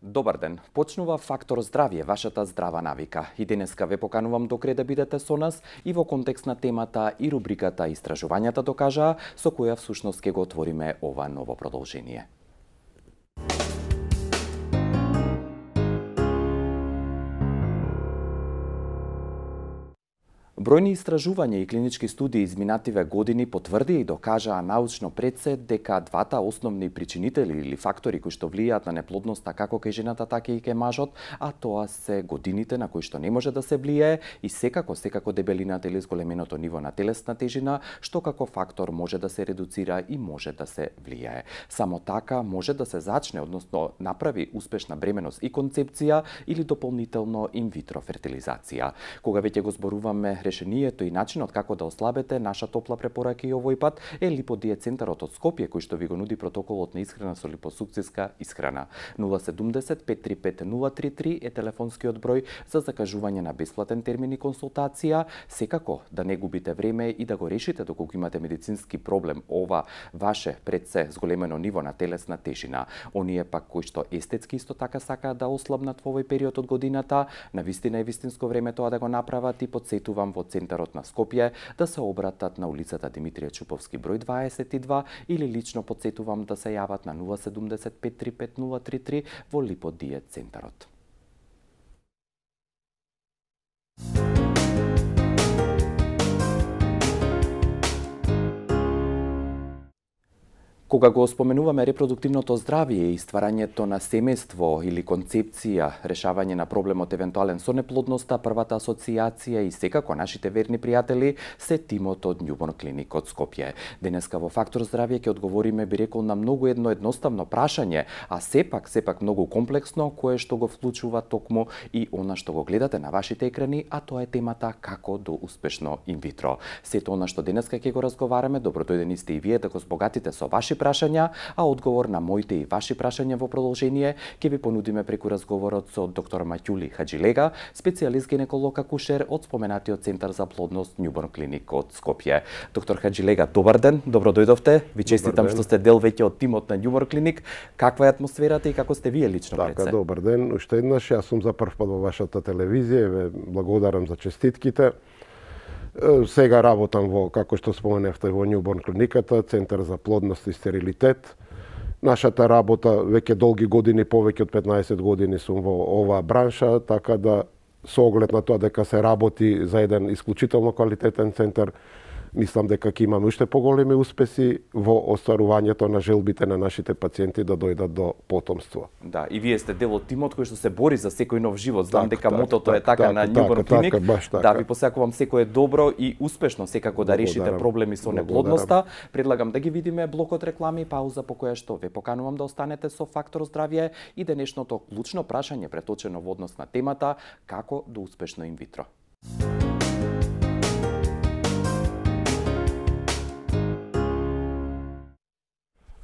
Добар ден. Почнува Фактор здравје, вашата здрава навика. И денеска ве поканувам до крај да бидете со нас и во контекст на темата и рубриката Истражувањата докажаа, со која всушност ќе го отвориме ова ново продолжение. Бројни истражувања и клинички студии изминативе години потврдија и докажаа научно пред се дека двата основни причинители или фактори кои што влијаат на неплодноста како кај жената, така и кај мажот, а тоа се годините на кои што не може да се влијае и секако дебелината или зголеменото ниво на телесна тежина, што како фактор може да се редуцира и може да се влијае. Само така може да се зачне, односно направи успешна бременост и концепција или дополнително инвитро фертилизација. Кога веќе го зборуваме решението и начинот како да ослабете, наша топла препорака и овој пат е липодиет центарот од Скопје, кој што ви го нуди протоколот на исхрана со липосукциска исхрана. 070 535 033 е телефонскиот број за закажување на бесплатен термин и консултација. Секако да не губите време и да го решите доколку имате медицински проблем, ова ваше пред се зголемено ниво на телесна тежина. Оние пак кои што естетски исто така сакаат да ослабнат во овој период од годината, навистина е вистинско време тоа да го направат и подсетувам во центарот на Скопје да се обратат на улицата Димитрија Чуповски број 22 или лично подсетувам да се јават на 070 535 033 во липодиет центарот. Кога го споменуваме репродуктивното здравје и стварањето на семејство или концепција, решавање на проблемот евентуален со неплодноста, првата асоциација и секако нашите верни пријатели се тимот од Newborn Clinic од Скопје. Денеска во Фактор здравје ќе одговориме, би рекол, на многу едноставно прашање, а сепак многу комплексно, кое што го вклучува токму и она што го гледате на вашите екрани, а тоа е темата како до успешно инвитро. Сето она што денеска ќе го разговараме, добродојдени сте и вие да го збогатите со ваши прашања, а одговор на моите и ваши прашања во продолжение ќе ви понудиме преку разговорот со доктор Маќули Хаџилега, специјалист гинеколог акушер од споменатиот Центар за плодност Newborn Clinic од Скопје. Доктор Хаџилега, добар ден, добро дојдовте. Ви честитам што сте дел веќе од тимот на Newborn Clinic. Каква е атмосферата и како сте вие лично пред се? Така, добар ден. Уште еднаш, јас сум за прв пат во вашата телевизија, ве благодарам за честитките. Сега работам во, како што споменавте, во Newborn клиниката, Центар за плодност и стерилитет. Нашата работа веќе долги години, повеќе од 15 години сум во оваа бранша, така да со оглед на тоа дека се работи за еден исклучително квалитетен центар, мислам дека ќе имаме уште поголеми успеси во остварувањето на желбите на нашите пациенти да дојдат до потомство. Да, и вие сте дел од тимот кој што се бори за секој нов живот. Знам дека мотото е така на Newborn Clinic. Да, ви посакувам секое добро и успешно секако да решите проблеми со неплодноста. Предлагам да ги видиме блокот реклами, пауза по која што ве поканувам да останете со Фактор здравје и денешното клучно прашање преточено во однос на темата како до успешно инвитро.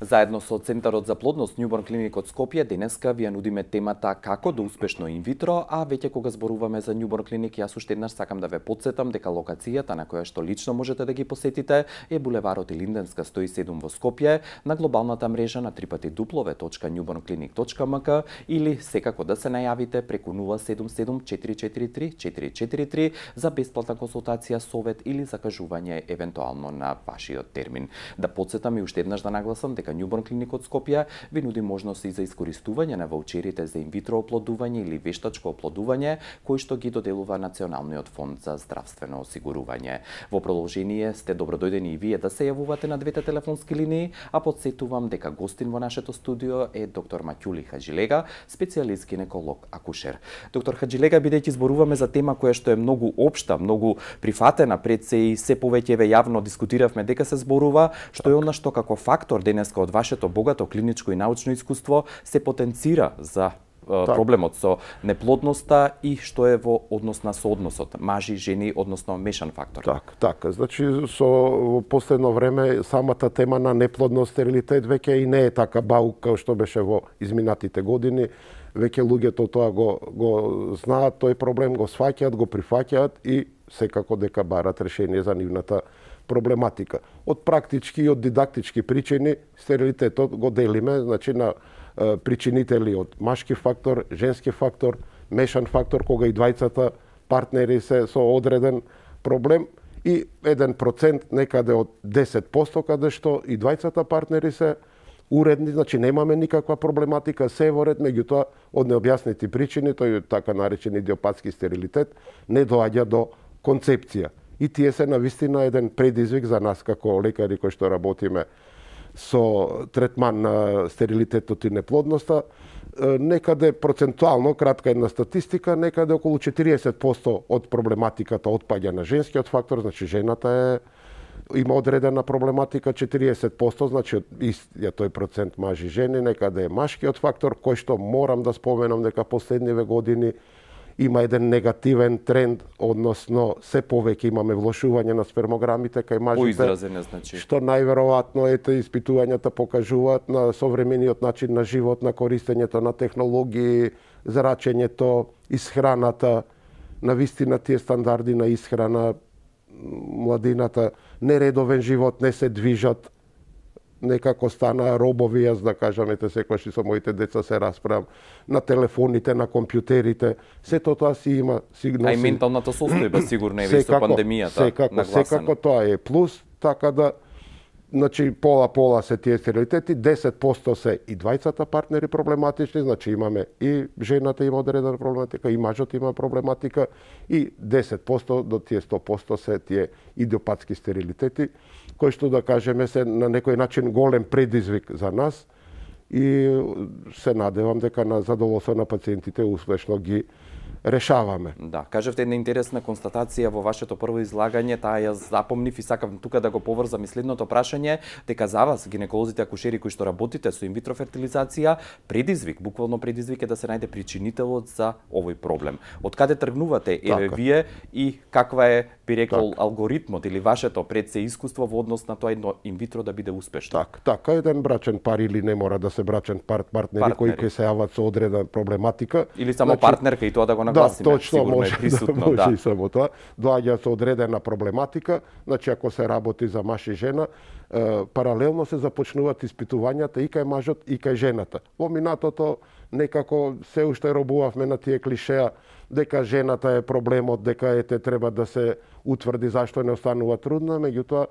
Заедно со Центарот за плодност Newborn Clinic од Скопје, денеска ви ја нудиме темата како да успешно инвитро, а веќе кога зборуваме за Newborn Clinic, јас уште еднаш сакам да ве потсетам дека локацијата на која што лично можете да ги посетите е булеварот Илинденска 107 во Скопје, на глобалната мрежа на www.newbornclinic.mk или секако да се најавите преку 077 443 443 за бесплатна консултација, совет или закажување евентуално на вашиот термин. Да потсетам и уште еднаш да нагласам дека Newborn Clinic од Скопје ви нуди можност и за искористување на ваучерите за инвитро оплодување или вештачко оплодување, кои што ги доделува Националниот фонд за здравствено осигурување. Во продолжение сте добродојдени и вие да се јавувате на двете телефонски линии, а подсетувам дека гостин во нашето студио е доктор Маќули Хаџилега, специјалист гинеколог акушер. Доктор Хаџилега, бидејќи зборуваме за тема која што е многу општа, многу прифатена пред се и се повеќе ве јавно дискутиравме дека се зборува, што е она што како фактор денеска од вашето богато клиничко и научно искуство се потенцира за проблемот со неплодноста и што е во однос на соодносот мажи, жени, односно мешан фактор. Така. Значи, со последно време самата тема на неплодност, стерилитет веќе и не е така баук како што беше во изминатите години. Веќе луѓето тоа го знаат, тој проблем го сваќаат, го прифаќаат и секако дека барат решение за нивната проблематика. Од практички и од дидактички причини стерилитетот го делиме, значи на причинители од машки фактор, женски фактор, мешан фактор, кога и двајцата партнери се со одреден проблем, и 1% некаде од 10% каде што и двајцата партнери се уредни, значи немаме никаква проблематика, се во ред, меѓутоа од необјаснети причини, тој така наречен идиопатски стерилитет, не доаѓа до концепција. И тие се навистина еден предизвик за нас како лекари кои што работиме со третман на стерилитетот и неплодноста. Некаде процентуално, кратка една статистика, некаде околу 40% од проблематиката отпаѓа на женскиот фактор, значи жената има одредена проблематика, 40%, значи истиот тој процент мажи жени, некаде е машкиот фактор, кој што морам да споменам дека последниве години има еден негативен тренд, односно се повеќе имаме влошување на спермограмите кај мажите. Поизразене, значи. Што најверојатно испитувањата покажуваат на современиот начин на живот, на користењето на технологии, зрачењето, исхраната, навистина тие стандарди на исхрана, младината, нередовен живот, не се движат, некако стана робови, јас да кажам, секогаш и со моите деца се расправам, на телефоните, на компјутерите, сето тоа си има сигнал. А и менталната состојба сигурно е со пандемијата нагласена. Секако тоа е плюс, така да, значи пола се тие стерилитети, 10% се и двајцата партнери проблематични, значи имаме и жената има одредена проблематика, и мажот има проблематика, и 10% до тие 100% се тие идиопатски стерилитети, кои што да кажеме се на некој начин голем предизвик за нас, и се надевам дека на задоволство на пациентите успешно ги решаваме. Да, кажавте една интересна констатација во вашето прво излагање, таа ја запомнив и сакам тука да го поврзам и следното прашање, дека за вас, гинеколозите акушери кои што работите со инвитро фертилизација, предизвик, буквално предизвик е да се најде причинителот за овој проблем. Од каде тргнувате вие и каква е, би рекол, алгоритмот или вашето пред се искуство во однос на тоа едно инвитро да биде успешно? Така, еден брачен пар или не мора да се брачен партнери кои ќе се јават со одредена проблематика. Или само партнерка и тоа да го нагласиме, точно, може, присутно, може и само тоа. Доаѓа со одредена проблематика, значи ако се работи за маж и жена, паралелно се започнуваат испитувањата и кај мажот и кај жената. Во минатото некако се уште робувавме на тие клишеа дека жената е проблемот, дека треба да се утврди зашто не останува трудна, меѓутоа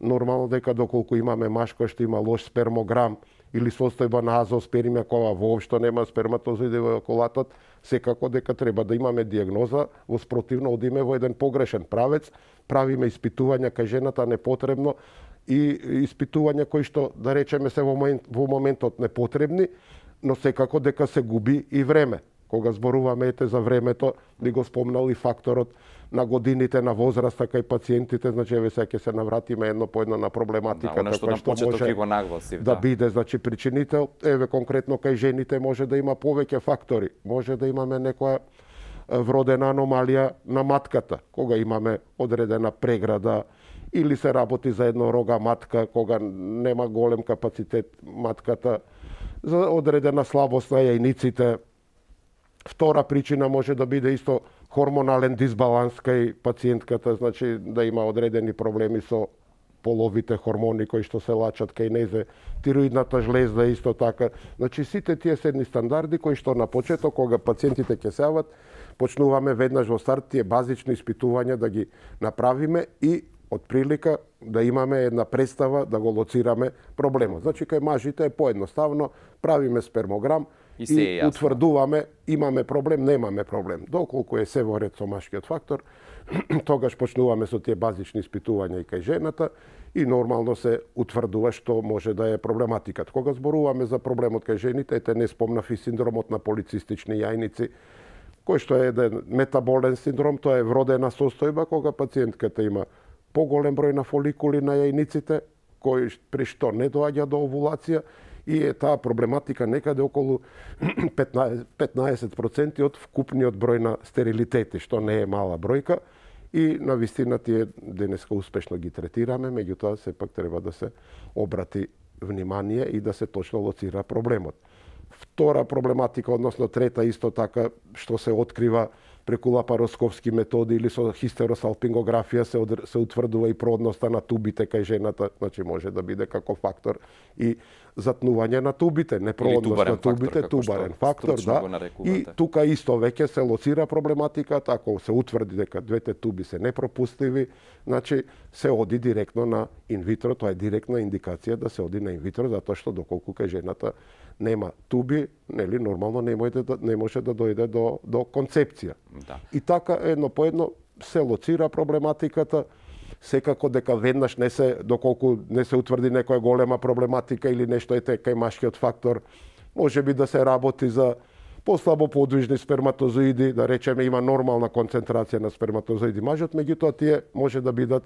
нормално дека доколку имаме маж кој што има лош спермограм или состојба на азооспермија која воопшто нема сперматозоиди во околатот, секако дека треба да имаме дијагноза, во спротивно одиме во еден погрешен правец, правиме испитувања кај жената непотребно и испитувања кои што, да речеме, се во моментот непотребни, но секако дека се губи и време. Кога зборуваме за времето, ни го спомнал и факторот на годините, на возраста кај пациентите, значи еве сега ќе се навратиме едно по едно на проблематиката која што може го нагласив, да биде, значи причинител. Еве конкретно кај жените може да има повеќе фактори. Може да имаме некоја вродена аномалија на матката, кога имаме одредена преграда или се работи за еднорога матка, кога нема голем капацитет матката, за одредена слабост на јајниците. Втора причина може да биде исто хормонален дисбаланс кај пациентката, значи да има одредени проблеми со половите хормони кои што се лачат кај незе, тироидната жлезда исто така. Значи сите тие седни стандарди кои што на почеток кога пациентите ќе се јават, почнуваме веднаш во старт тие базични испитувања да ги направиме и од прилика да имаме една представа да го лоцираме проблемот. Значи кај мажите е поедноставно, правиме спермограм и утврдуваме имаме проблем, немаме проблем. Доколку е се во ред со машкиот фактор, тогаш почнуваме со тие базични испитувања и кај жената и нормално се утврдува што може да е проблематиката. Кога зборуваме за проблемот кај жените, не спомнав и синдромот на полицистични јајници, кој што е еден метаболен синдром, тоа е вродена состојба кога пациентката има поголем број на фоликули на јајниците, при што не доаѓа до овулација, и е таа проблематика некаде околу 15% од вкупниот број на стерилитети, што не е мала бројка, и на вистина тие денеска успешно ги третираме, меѓутоа сепак треба да се обрати внимание и да се точно лоцира проблемот. Втора проблематика, односно трета исто така, што се открива преку лапароскопски методи или со хистеросалпингографија се утврдува и продноста на тубите кај жената, значи може да биде како фактор и затнување на тубите, непроодност на тубите, тубарен фактор, да. И тука исто веќе се лоцира проблематиката, ако се утврди дека двете туби се непропустиви, значи се оди директно на инвитро, тоа е директна индикација да се оди на инвитро, затоа што доколку кај жената нема туби, нели нормално не може да дојде до концепција. Да. И така едно по едно се лоцира проблематиката. Секако дека веднаш доколку не се утврди некоја голема проблематика или нешто кај машкиот фактор, може би да се работи за послабо подвижни сперматозоиди, да речеме има нормална концентрација на сперматозоиди мажот, меѓутоа тие може да бидат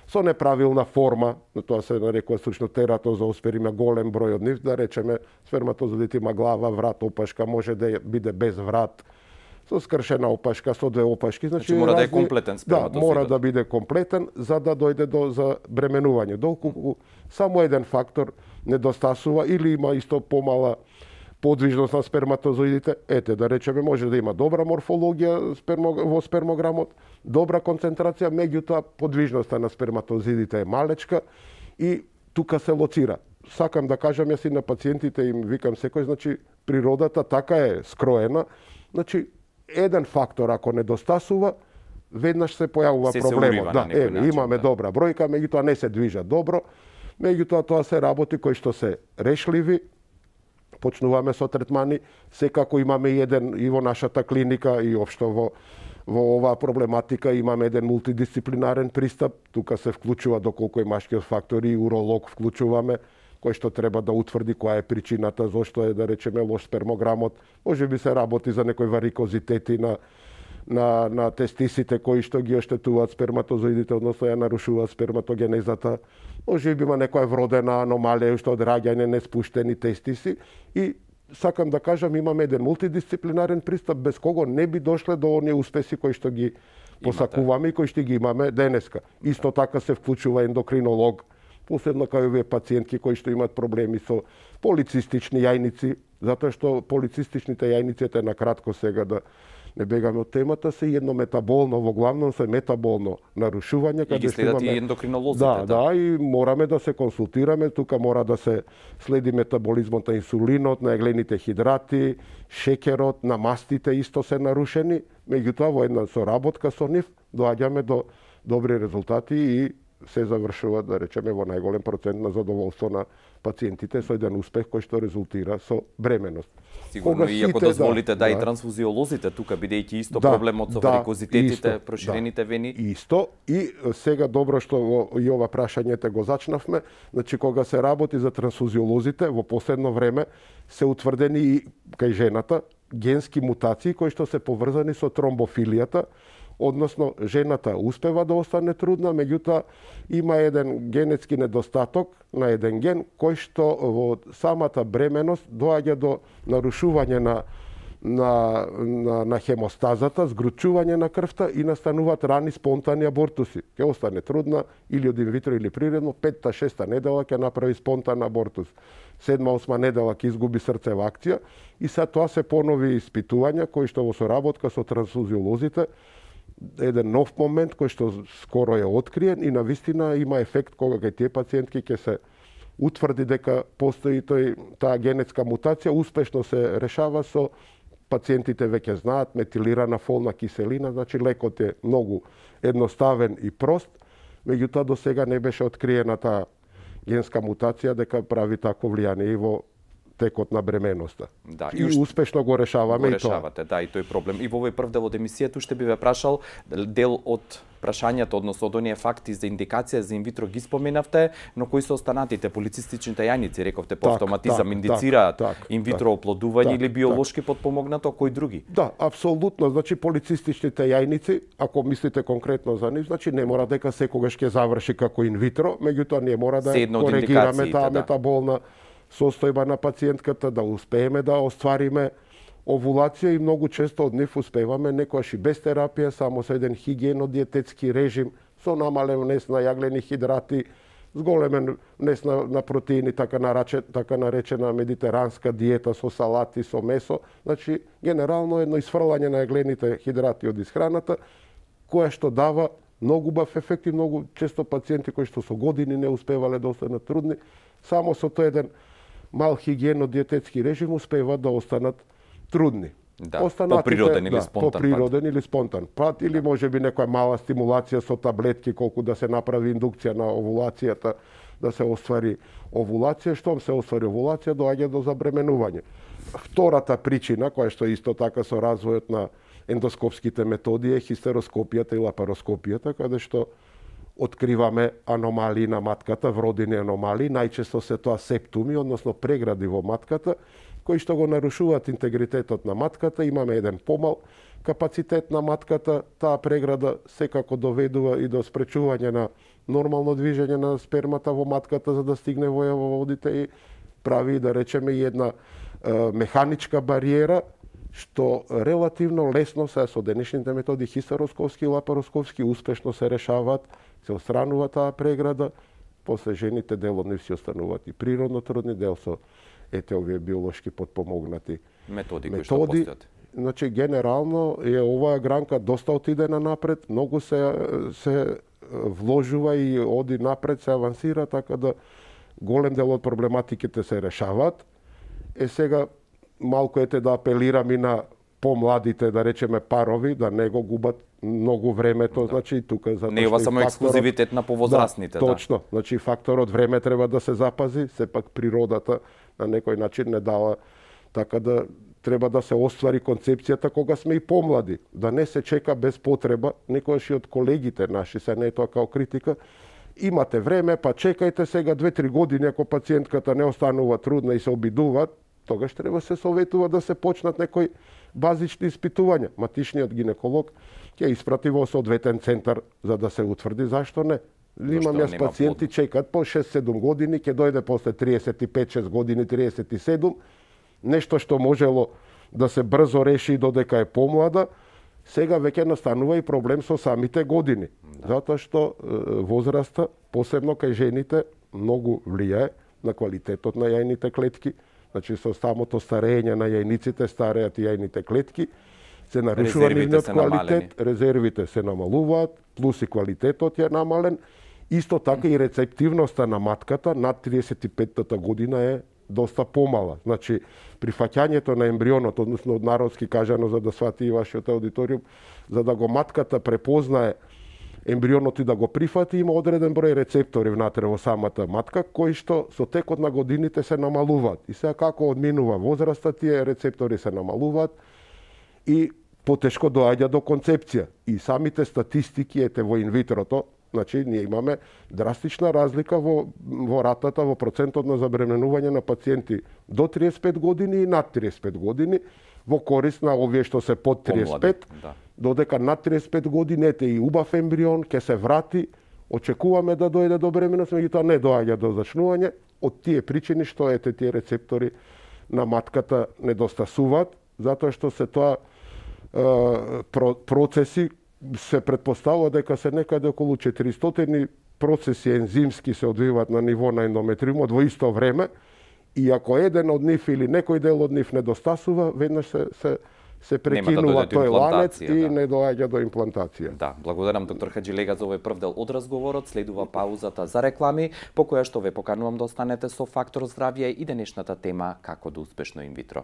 со неправилна форма, тоа се нарекува стручно тератозоосперм, има голем број од нив, да речеме сперматозоидите има глава, врат, опашка, може да биде без врат, со скршена опашка, со две опашки, значи мора да е комплетен сперматозоид. Да, мора да биде комплетен за да дојде за бременување. Доколку само еден фактор недостасува или има исто помала подвижност на сперматозоидите, да речеме може да има добра морфологија во спермограмот, добра концентрација, меѓутоа подвижноста на сперматозоидите е малечка и тука се лоцира. Сакам да кажам јас и на пациентите им викам секој, значи природата така е скроена, значи еден фактор ако недостасува, веднаш се појавува проблемот. Да, имаме добра бројка, меѓутоа не се движат добро, меѓутоа тоа се работи кои што се решливи. Почнуваме со третмани, секако имаме и во нашата клиника и општо во оваа проблематика имаме еден мултидисциплинарен пристап. Тука се вклучува доколку е машкиот фактор и уролог вклучуваме, кој што треба да утврди која е причината, зошто е да речеме лош спермограмот. Може би се работи за некои варикозитети на тестисите кои што ги оштетуваат сперматозоидите, односно ја нарушуваат сперматогенезата. Може би има некоја вродена аномалија што од раѓање неспуштени тестиси и сакам да кажам имаме еден мултидисциплинарен пристап без кого не би дошле до оние успеси кои што ги посакуваме и кои што ги имаме денеска. Исто така се вклучува ендокринолог, посебно кај овие пациентки кои што имаат проблеми со полицистични јајници, затоа што полицистичните јајници, на кратко сега да не бегаме од темата, се едно метаболно, во главном се метаболно нарушување. И ги следат и ендокринолозите. Да, и мораме да се консултираме, тука мора да се следи метаболизмот на инсулинот, на еглените хидрати, шекерот, на мастите исто се нарушени, меѓутоа во една соработка со нив доаѓаме до добри резултати и се завршува, да речеме, во најголем процент на задоволство на пациентите со еден успех кој што резултира со бременност. Сигурно и ако дозволите и трансфузиолозите тука, бидејќи исто проблемот со варикозитетите, проширените вени. Исто, и сега добро што и ова прашањето го зачнавме, значи кога се работи за трансфузиолозите, во последно време се утврдени и кај жената генски мутации кои што се поврзани со тромбофилијата, односно жената успева да остане трудна, меѓутоа има еден генетски недостаток на еден ген кој што во самата бременост доаѓа до нарушување на хемостазата, згручување на крвта и настануваат рани спонтани абортуси. Ќе остане трудна или од инвитро или природно, 5-6 недела ќе направи спонтан абортус. 7-8 недела ќе изгуби срцева акција и са тоа се понови испитувања кои што во соработка со трансфузиолозите еден нов момент кој што скоро е откриен и навистина има ефект кога кај тие пациентки ќе се утврди дека постои таа генетска мутација, успешно се решава со пациентите веќе знаат метилирана фолна киселина, значи лекот е многу едноставен и прост, меѓутоа до сега не беше откриена таа генска мутација дека прави такво влијание и во текот на бременоста. Да, и успешно го решаваме и тоа. Да, и тој проблем. И во овој прв дел од емисијата уште би ве прашал дел од прашањата, односно од оние факти за индикација за инвитро ги споменавте, но кои се останатите полицистичните јајници, рековте по автоматизам индицираат инвитро оплодување или биолошки подпомогнато, кои други? Да, апсолутно, значи полицистичните јајници, ако мислите конкретно за нив, значи не мора дека секогаш ќе заврши како инвитро, меѓутоа ние мора да коригираме таа метаболна состојба на пациентката, да успееме да оствариме овулација и многу често од нив успеваме некојаш и без терапија, само со еден хигиено-диететски режим, со намален внес на јаглени хидрати, зголемен внес на протеини, така наречена медитеранска диета со салати, со месо. Значи, генерално едно изфрлање на јаглените хидрати од исхраната, која што дава многу бав ефект и многу често пациенти кои што со години не успевале да останат трудни, само со тој еден мал хигиено-диететски режим успеваат да останат трудни. Да, поприроден или спонтан поприроден или спонтан пат, или можеби некоја мала стимулација со таблетки, колку да се направи индукција на овулацијата, да се оствари овулација. Штом се оствари овулација, доаѓа до забременување. Втората причина, која што исто така со развојот на ендоскопските методи, е хистероскопијата и лапароскопијата, каде што откриваме аномалии на матката, вродени аномалии, најчесто се тоа септуми, односно прегради во матката, кои што го нарушуваат интегритетот на матката. Имаме еден помал капацитет на матката, таа преграда секако доведува и до спречување на нормално движење на спермата во матката за да стигне во јавоводите и прави, да речеме, една механичка бариера, што релативно лесно се со денешните методи хистероскопски и лапароскопски успешно се решаваат, се отстранува таа преграда, после жените дел од нив си остануваат и природно трудни, дел со овие биолошки подпомогнати методи кои што постојат. Значи, генерално е оваа гранка доста отидена напред, многу се вложува и оди напред, се авансира, така да голем дел од проблематиките се решаваат. Сега малку да апелирам и на помладите, да речеме парови, да не го губат многу времето, значи тука затоа не е само ексклузивитет на повозрастните, точно. Значи факторот време треба да се запази, сепак природата на некој начин не дава, така да треба да се оствари концепцијата кога сме и помлади, да не се чека без потреба. Некојаш и од колегите наши, се не е тоа као критика, имате време, па чекајте сега 2-3 години, ако пациентката не останува трудна и се обидуваат, тогаш треба се советува да се почнат некои базични испитувања. Матичниот гинеколог ќе испрати во соодветен центар за да се утврди, зашто не. Имам јас пациенти чекат по 6-7 години, ќе дојде после 35-6 години, 37, нешто што можело да се брзо реши додека е помлада, сега веќе настанува и проблем со самите години. Затоа што возраста, посебно кај жените, многу влијае на квалитетот на јајните клетки. Значи, со самото старење на јајниците, стареат и јајните клетки, се нарушува нивниот квалитет, резервите се намалуваат, плюс и квалитетот е намален. Исто така и рецептивноста на матката над 35-та година е доста помала. Значи, прифаќањето на ембрионот, односно од народски кажано, за да свати и вашиот аудиториум, за да го матката препознае ембрионот и да го прифати, има одреден број рецептори внатре во самата матка, кои што со текот на годините се намалуваат. И сега како одминува возраста, тие рецептори се намалуваат и потешко доаѓа до концепција. И самите статистики, ете во инвитрото, значи ние имаме драстична разлика во ратата, во процентот на забременување на пациенти до 35 години и над 35 години, во корист на овие што се под 35, додека над 35 години ете и убав ембрион, ќе се врати, очекуваме да дојде до бременост, меѓутоа не доаѓа до зачнување, од тие причини што ете тие рецептори на матката недостасуваат, затоа што се тоа процеси се предпоставува дека се некаде околу 400 процеси ензимски се одвиваат на ниво на ендометриумот во исто време, и ако еден од нив или некој дел од нив недостасува, веднаш се прекинува тој ланец и не доаѓа до имплантација. Да, благодарам доктор Хаџилега за овој прв дел од разговорот. Следува паузата за реклами, по која што ве поканувам да останете со Фактор здравје и денешната тема како да успешно инвитро.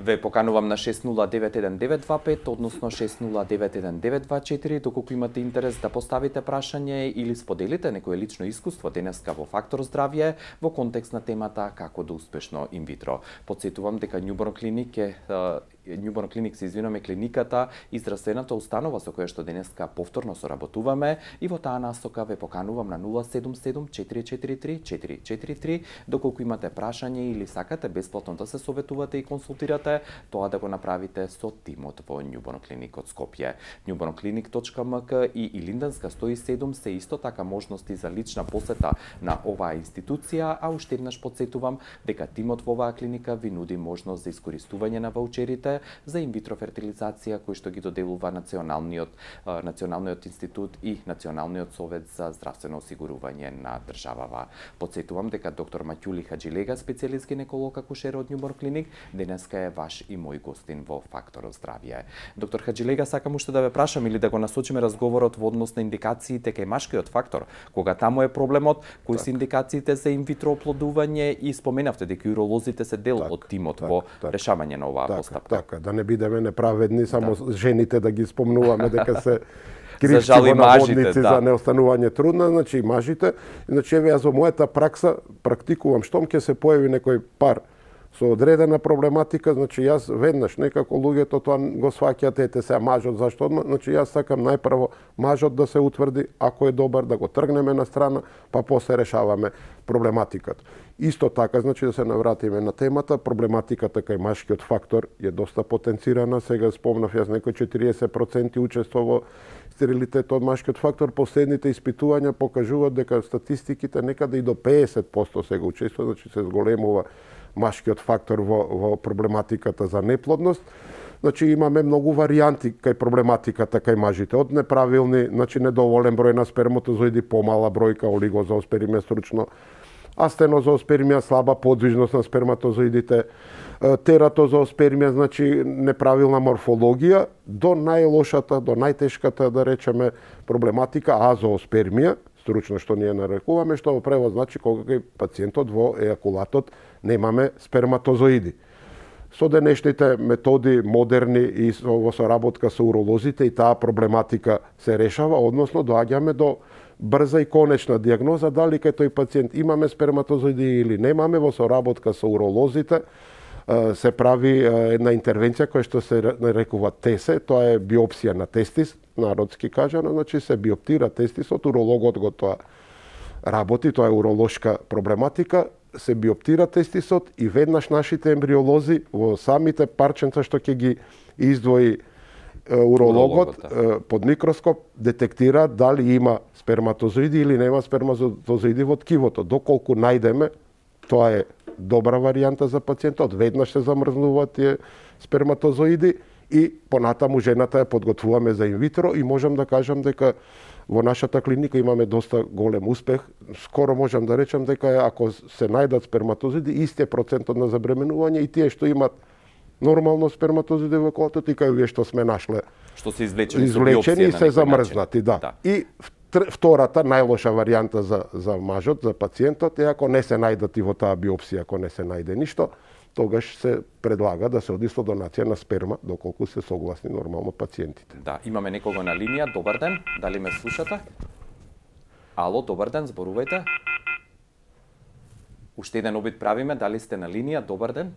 Ве поканувам на 6091-925, односно 6091-924, доколку имате интерес да поставите прашање или споделите некое лично искуство денеска во Фактор здравје во контекст на темата како да успешно инвитро. Подсетувам дека Њуборн Клиник клиниката и здравствената установа со која што денеска повторно соработуваме, и во таа насока ве поканувам на 077-443-443, доколку имате прашање или сакате бесплатно да се советувате и консултирате, тоа да го направите со тимот во Њуборн Клиник од Скопје. newbornclinic.mk и Илинденска 107 се исто така можности за лична посета на оваа институција, а уште еднаш подсетувам дека тимот во оваа клиника ви нуди можност за искористување на ваучерите сертификатите за инвитро фертилизација кои што ги доделува Националниот институт и Националниот совет за здравствено осигурување на државава. Подсетувам дека доктор Маќули Хаџилега, специјалист гинеколог акушер од Њубор клиник, денеска е ваш и мој гостин во Фактор здравје. Доктор Хаџилега, сакам уште да ве прашам или да го насочиме разговорот во однос на индикациите кај машкиот фактор, кога таму е проблемот, кои се индикациите за инвитро оплодување и споменавте дека уролозите се дел од тимот во решавање на оваа постапка. Така, да не бидеме неправедни, само жените да ги спомнуваме дека се кривци во наводници за неостанување трудна, значи и мажите. Значи еве јас во мојата пракса практикувам штом ќе се појави некој пар со одредена проблематика, значи јас веднаш некако луѓето тоа го сваќаат, ете се мажот зашто одма, значи јас сакам најпрво мажот да се утврди, ако е добар да го тргнеме на страна, па после решаваме проблематиката. Исто така, значи да се навратиме на темата, проблематиката кај машкиот фактор е доста потенцирана, сега спомнав јас некој 40% учество во стерилитет од машкиот фактор, последните испитувања покажуваат дека статистиките некаде и до 50% сега учество, значи се зголемува машкиот фактор во проблематиката за неплодност. Значи имаме многу варијанти кај проблематиката кај мажите, од неправилни, значи недоволен број на сперматозоиди, помала бројка, олигозооспермија стручно, астенозооспермија, слаба подвижност на сперматозоидите, тератозооспермија, значи неправилна морфологија, до најлошата, до најтешката, да речеме, проблематика азооспермија, стручно што ние нарекуваме, што во превод значи кога кај пациентот во ејакулатот немаме сперматозоиди. Со денешните методи модерни и во соработка со уролозите и таа проблематика се решава, односно доаѓаме до брза и конечна дијагноза дали кај тој пациент имаме сперматозоиди или немаме. Во соработка со уролозите се прави една интервенција која што се нарекува ТЕСЕ, тоа е биопсија на тестис, народски кажано, значи се биоптира тестисот, урологот го тоа работи, тоа е уролошка проблематика, се биоптира тестисот и веднаш нашите ембриолози во самите парченца што ќе ги издвои урологот под микроскоп детектираат дали има сперматозоиди или нема сперматозоиди во ткивото. Доколку најдеме, тоа е добра варијанта за пациентот, веднаш се замрзнуваат тие сперматозоиди и понатаму жената ја подготвуваме за инвитро и можам да кажам дека во нашата клиника имаме доста голем успех. Скоро можам да речам дека ако се најдат сперматозоиди, истиот процентот на забременување и тие што имат нормално сперматозоиди во колото и кај овие што сме нашле. Што се извлечени и се замрзнати, да. И втората најлоша варијанта за мажот, за пациентот е ако не се најдат и во таа биопсија, ако не се најде ништо, тогаш се предлага да се оди со донација на сперма, доколку се согласни нормално пациентите. Да, имаме некого на линија. Добар ден, дали ме слушате? Ало, добар ден, зборувајте. Уште еден обид правиме, дали сте на линија? Добар ден.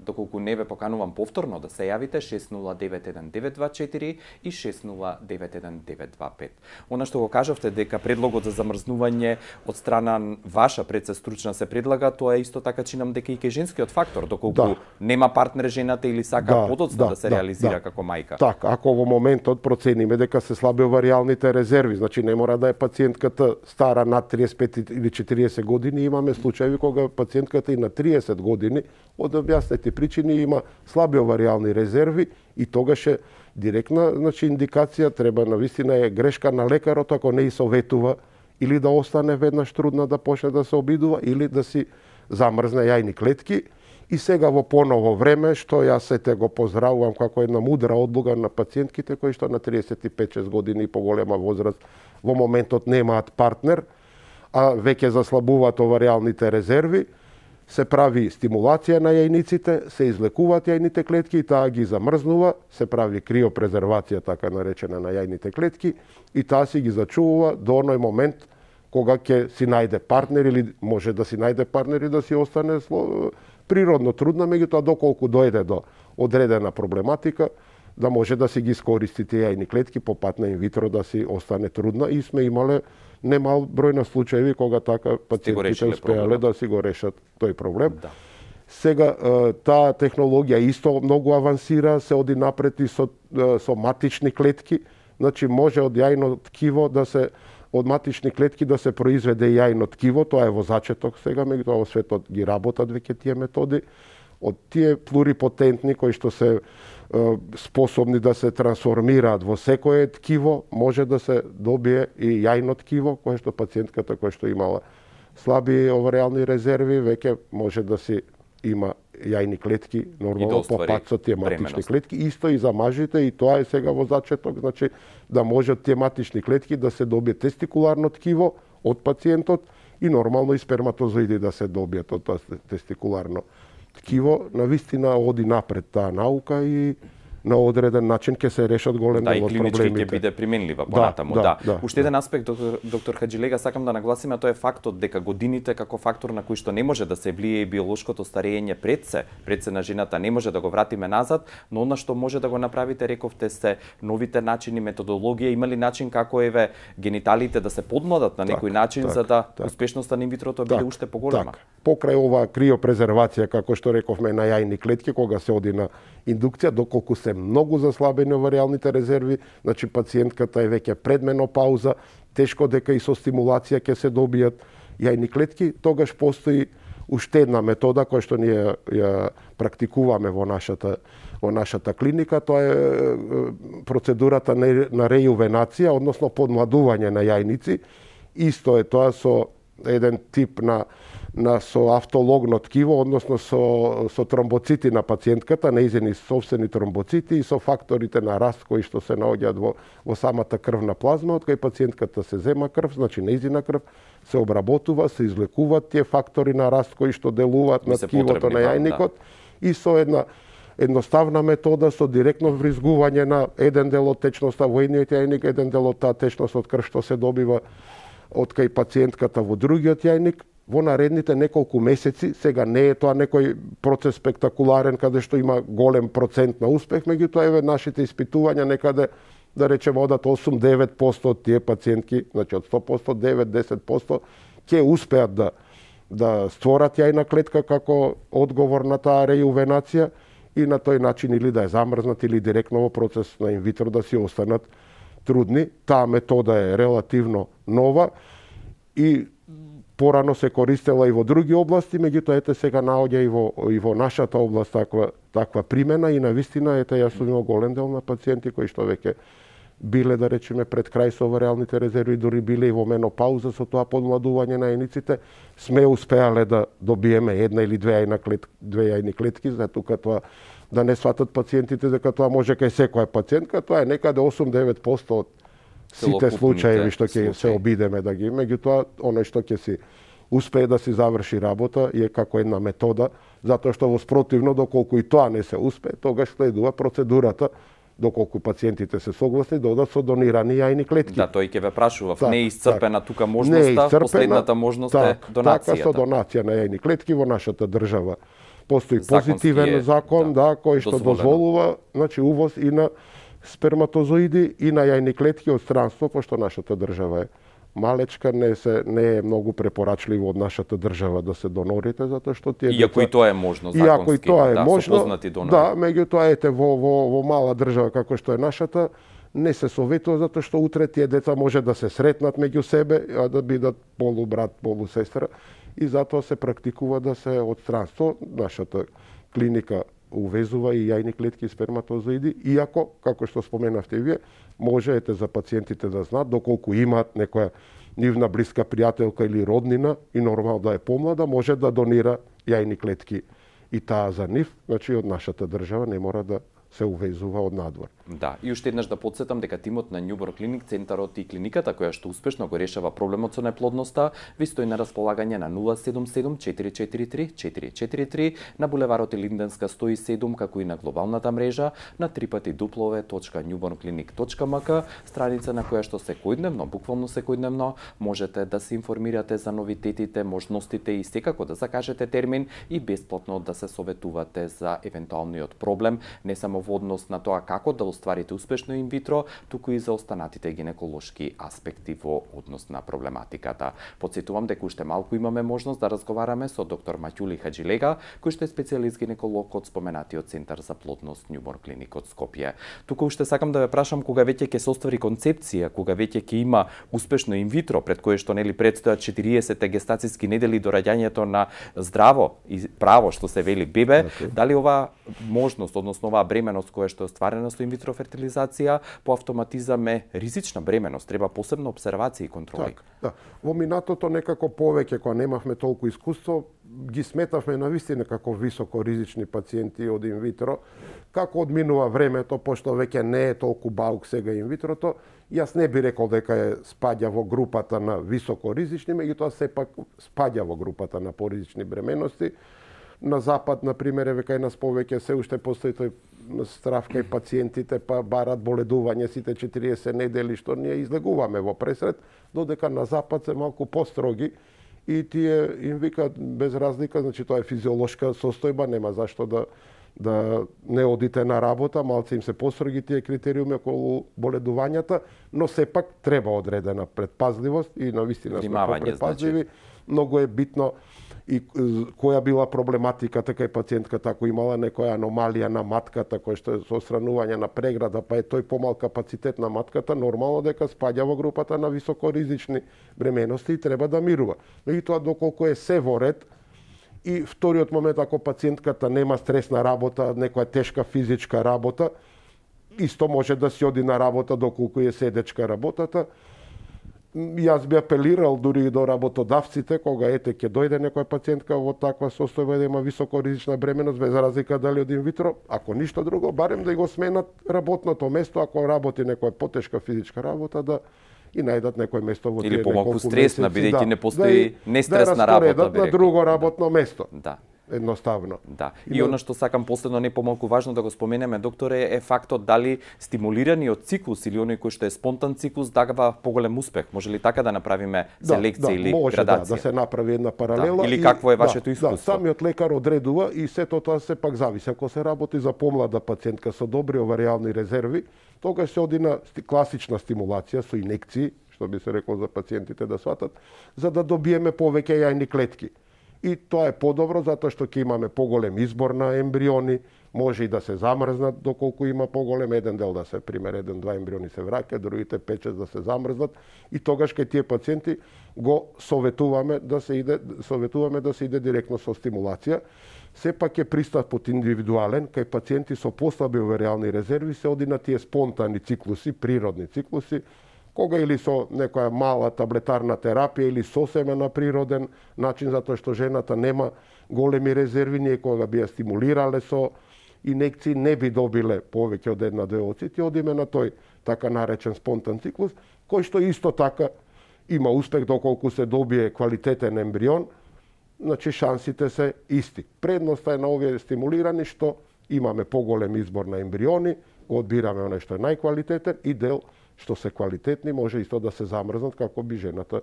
Доколку не ве поканувам повторно да се јавите 6091-924 и 6091-925. Она што го кажавте дека предлогот за замрзнување од страна ваша предсестручна се предлага, тоа е исто така чинам дека и кај женскиот фактор, доколку нема партнер жената или сака подоцна да се реализира како мајка. Така, ако во моментот процениме дека се слаби оваријалните резерви, значи не мора да е пациентката стара над 35 или 40 години, имаме случаи кога пациентката и на 30 години од објаснети причини има слаби оваријални резерви и тогаш е директна, значи индикација, треба навистина е грешка на лекарот ако не и советува или да остане веднаш трудна да почне да се обидува или да си замрзне јајни клетки. И сега во поново време, што јас сете го поздравувам како една мудра одлука на пациентките кои што на 35-6 години и поголема возраст во моментот немаат партнер, а веќе заслабуваат оваријалните резерви, се прави стимулација на јајниците, се излекуваат јајните клетки и таа ги замрзнува, се прави криопрезервација, така наречена, на јајните клетки и таа си ги зачувува до оној момент кога ќе си најде партнер или може да си најде партнер и да си остане природно трудна, меѓутоа доколку дојде до одредена проблематика, да може да си ги искористи тие јајни клетки по пат на инвитро да си остане трудна и сме имале немал број на случаи кога така пациентите успеале да си го решат тој проблем. Да. Сега таа технологија исто многу авансира, се оди напред и со матични клетки, значи може од јајно ткиво да се од матични клетки да се произведе јајно ткиво, тоа е во зачеток сега, меѓутоа во светот ги работат веќе тие методи. од тие плурипотентни кои што се способни да се трансформираат во секое ткиво, може да се добие и јајно ткиво, кое што пациентката која што имала слаби оваријални резерви, веќе може да си има јајни клетки, нормално по пат со тие матични клетки. Исто и за мажите, и тоа е сега во зачеток, значи да може тие матични клетки да се добие тестикуларно ткиво од пациентот и нормално и сперматозоиди да се добијат од тоа тестикуларно ткиво. Навистина оди напред таа наука и на одреден начин ќе се решат голем дел од проблемите. Да, и клинички ќе биде применлива понатаму. Уште еден аспект, доктор Хаџилега, сакам да нагласиме, тоа е фактот дека годините како фактор на кој што не може да се влие биолошкото старење пред се на жената, не може да го вратиме назад, но она што може да го направите, рековте, се новите начини, методологија, има ли начин како гениталите да се подмладат на некој начин за да успешноста на инвитрото биде уште поголема? Покрај оваа криопрезервација, како што рековме, на јајни клетки, кога се оди на индукција, доколку се многу заслабени оваријалните резерви, значи пациентката е веќе пред менопауза, тешко дека и со стимулација ќе се добијат јајни клетки, тогаш постои уште една метода која што ние ја практикуваме во нашата клиника, тоа е процедурата на рејувенација, односно подмладување на јајници. Исто е тоа со еден тип на со автологно ткиво, односно со тромбоцити на пациентката, неизени собствени тромбоцити и со факторите на раст кои што се наоѓаат во самата крвна плазма, од кај пациентката се зема крв, значи неизина крв, се обработува, се излекуваат тие фактори на раст кои што делуваат на ткивото на јајникот и со една едноставна метода со директно вризгување на еден дел од течноста во едниот јајник, еден дел од таа течност од крв што се добива од кај пациентката во другиот јајник. Во наредните неколку месеци, сега не е тоа некој процес спектакуларен каде што има голем процент на успех, меѓутоа еве нашите испитувања некаде, да речеме, одат 8-9% од тие пациентки, значи од 100%, 9-10% ќе успеат да створат јајна клетка како одговор на таа рејувенација и на тој начин или да ја замрзнат или директно во процес на инвитро да си останат трудни. Таа метода е релативно нова и порано се користела и во други области, меѓутоа ете сега наоѓа и во нашата област таква примена и навистина ете јас сум имал голем дел на пациенти кои што веќе биле, да речеме, пред крај со оваријалните резерви, дури биле и во менопауза со тоа подмладување на јајниците, сме успеале да добиеме една или две јајни клетки, за тука тоа да не сватат пациентите дека тоа може кај секоја пациентка, тоа е некаде 8-9% од сите случаи што ќе се обидеме да ги, меѓутоа оној што ќе си успее да си заврши работа е како една метода, затоа што во спротивно, доколку и тоа не се успее, тогаш следува процедурата, доколку пациентите се согласни, да одат со донирани јајни клетки. Да, тој ќе ве прашував, не е исцрпена тука можноста, последната можност е донацијата. Така, со донација на јајни клетки во нашата држава постои позитивен закон, кој што дозволува, значи увоз и на сперматозоиди и на јајни клетки од странство, пошто нашата држава е малечка, не е многу препорачливо од нашата држава да се донорите, затоа што тие Иако и тоа е можно законски, со познати донори. Да, меѓутоа ете во мала држава како што е нашата, не се советува затоа што утре тие деца може да се сретнат меѓу себе, а да бидат полубрат, полусестра и затоа се практикува да се од странство. Нашата клиника увезува и јајни клетки и сперматозоиди, иако, како што споменавте вие, можете за пациентите да знаат, доколку имаат некоја нивна блиска пријателка или роднина и нормално да е помлада, може да донира јајни клетки и таа за нив, значи од нашата држава не мора да се увезува од надвор. Да, и уште еднаш да подсетам дека тимот на Њубор Клиник, центарот и клиниката која што успешно го решава проблемот со неплодноста, ви стои на располагање на 077 443 443 на булеварот Линденска 107, како и на глобалната мрежа на www.newbornclinic.mk, страница на која што секојдневно, буквално секојдневно, можете да се информирате за новитетите, можностите и секако да закажете термин и бесплатно да се советувате за евентуалниот проблем, не само во однос на тоа како да остварите успешно инвитро, туку и за останатите гинеколошки аспекти во однос на проблематиката. Потсетувам дека уште малку имаме можност да разговараме со доктор Маќули Хаџилега, кој што е специјалист гинеколог од споменатиот Центар за плодност Њуборн клиник од Скопје. Туку уште сакам да ве прашам кога веќе ќе се оствари концепција, кога веќе ќе има успешно инвитро, пред кое што нели предстојат 40 гестацијски недели до раѓањето на здраво и право што се вели бебе, дали оваа можност, односно оваа бременост која што е остварена со инвитро фертилизација по автоматизам е ризична бременост, треба посебна обсервација и контроли. Да. Во минатото некако повеќе кога немавме толку искуство, ги сметавме на вистина како високо ризични пациенти од инвитро. Како одминува времето, пошто веќе не е толку баук сега инвитрото, јас не би рекол дека е спаѓа во групата на високо ризични, меѓутоа сепак спаѓа во групата на поризични бременности. На запад, на пример, веќе нас повеќе се уште постои тој страв кај пациентите, па барат боледување сите 40 недели, што ние излегуваме во пресред, додека на запад се малку построги и тие им викаат без разлика, значи тоа е физиолошка состојба, нема зашто да не одите на работа, малце им се построги тие критериуми околу боледувањата, но сепак треба одредена предпазливост и навистина сме предпазливи. Многу е битно и која била проблематиката кај пациентката, ако имала некоја аномалија на матката, која што е со осранување на преграда, па е тој помал капацитет на матката, нормално дека спаѓа во групата на високоризични бременности и треба да мирува. Меѓутоа, доколку е се во ред, и вториот момент, ако пациентката нема стресна работа, некоја тешка физичка работа, исто може да си оди на работа доколку е седечка работата. Јас би апелирал дури и до работодавците, кога ете ќе дојде некоја пациентка во таква состојба да има високоризична бременост, без разлика дали од инвитро, ако ништо друго, барем да го сменат работното место, ако работи некоја потешка физичка работа, да и најдат некој место во тие или помалку стресна, бидејќи не постои нестресна работа, на друго работно место. Да. Едноставно. Да. И она што сакам последно не помалку важно да го споменеме, докторе, е фактот дали стимулираниот циклус или оној кој што е спонтан циклус дава поголем успех. Може ли така да направиме селекција или може, градација? Да се направи една паралела. Или какво е вашето искуство? Самиот лекар одредува и сето тоа се пак зависи. Ако се работи за помлада пациентка со добри оваријални резерви, тогаш се оди на класична стимулација со инекции, што би се рекло за пациентите да сватат, за да добиеме повеќе јајни клетки. И тоа е подобро затоа што ќе имаме поголем избор на ембриони, може и да се замрзнат доколку има поголем, еден дел да се пример 1-2 ембриони се враќаат, другите 5-6 да се замрзнат и тогаш кај тие пациенти го советуваме да се иде директно со стимулација. Сепак е пристапот индивидуален, кај пациенти со послаби оваријални резерви се оди на тие спонтани циклуси, природни циклуси, кога или со некоја мала таблетарна терапија или сосема на природен начин, затоа што жената нема големи резерви, ние кога би ја стимулирале со инекции не би добиле повеќе од 1-2 оцити, одиме на тој така наречен спонтан циклус, кој што исто така има успех доколку се добие квалитетен ембрион, значи шансите се исти. Предноста е на овие стимулирани што имаме поголем избор на ембриони, го одбираме оној што е најквалитетен и дел што се квалитетни, може исто да се замрзнат како би жената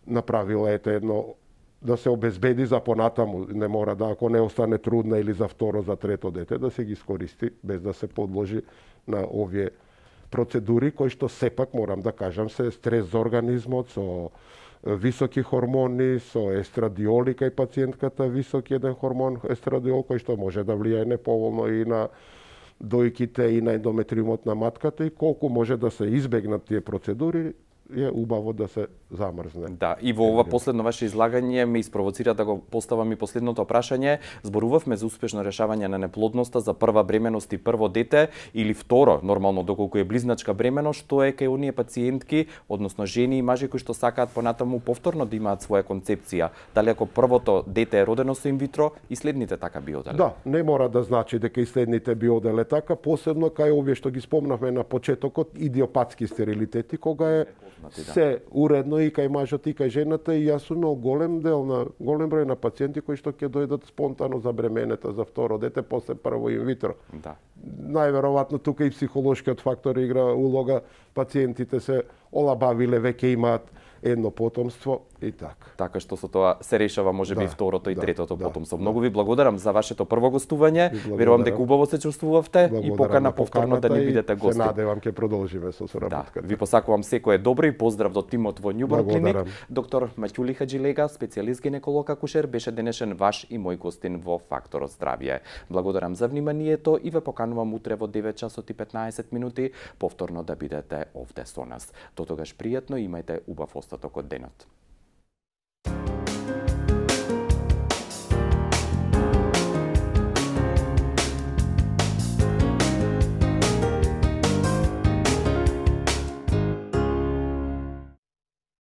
направила едно да се обезбеди за понатаму, не мора да ако не остане трудна или за второ, за трето дете, да се ги искористи без да се подложи на овие процедури кои што сепак морам да кажам се стрес за организмот, со високи хормони, со естрадиоли кај пациентката, високи еден хормон естрадиол кој што може да влијае неповолно и на дојките и на ендометриумот на матката и колку може да се избегнат тие процедури, е убаво да се замрзне. Да, и во ова последно ваше излагање ме испровоцира да го поставам и последното прашање. Зборувавме за успешно решавање на неплодноста за прва бременост и прво дете или второ, нормално доколку е близначка бременост, што е кај оние пациентки, односно жени и мажи кои што сакаат понатаму повторно да имаат своја концепција. Дали ако првото дете е родено со инвитро и следните така би оделе? Да, не мора да значи дека и следните би оделе така, посебно кај овие што ги спомнавме на почетокот, идиопатски стерилитети, кога е се уредно и кај мажот и кај жената, и јас сум имал голем број на пациенти кои што ќе дојдат спонтано за бременета за второ дете после прво инвитро. Да. Најверојатно тука и психолошкиот фактор игра улога, пациентите се олабавиле, веќе имаат едно потомство, И така. Така што со тоа се решава можеби второто и третото потомство. Многу ви благодарам за вашето прво гостување. Верувам дека убаво се чувствувавте и покана повторно да ни бидете гости. Се надевам ќе продолжиме со соработката. Ви посакувам секое добро и поздрав до тимот во Њуборн клиник. Доктор Маќули Хаджилега, специјалист гинеколог акушер, беше денешен ваш и мој гостин во Фактор здравје. Благодарам за вниманието и ве поканувам утре во 9 часот и 15 минути повторно да бидете овде со нас. До тогаш пријатно и имајте убав остаток од денот.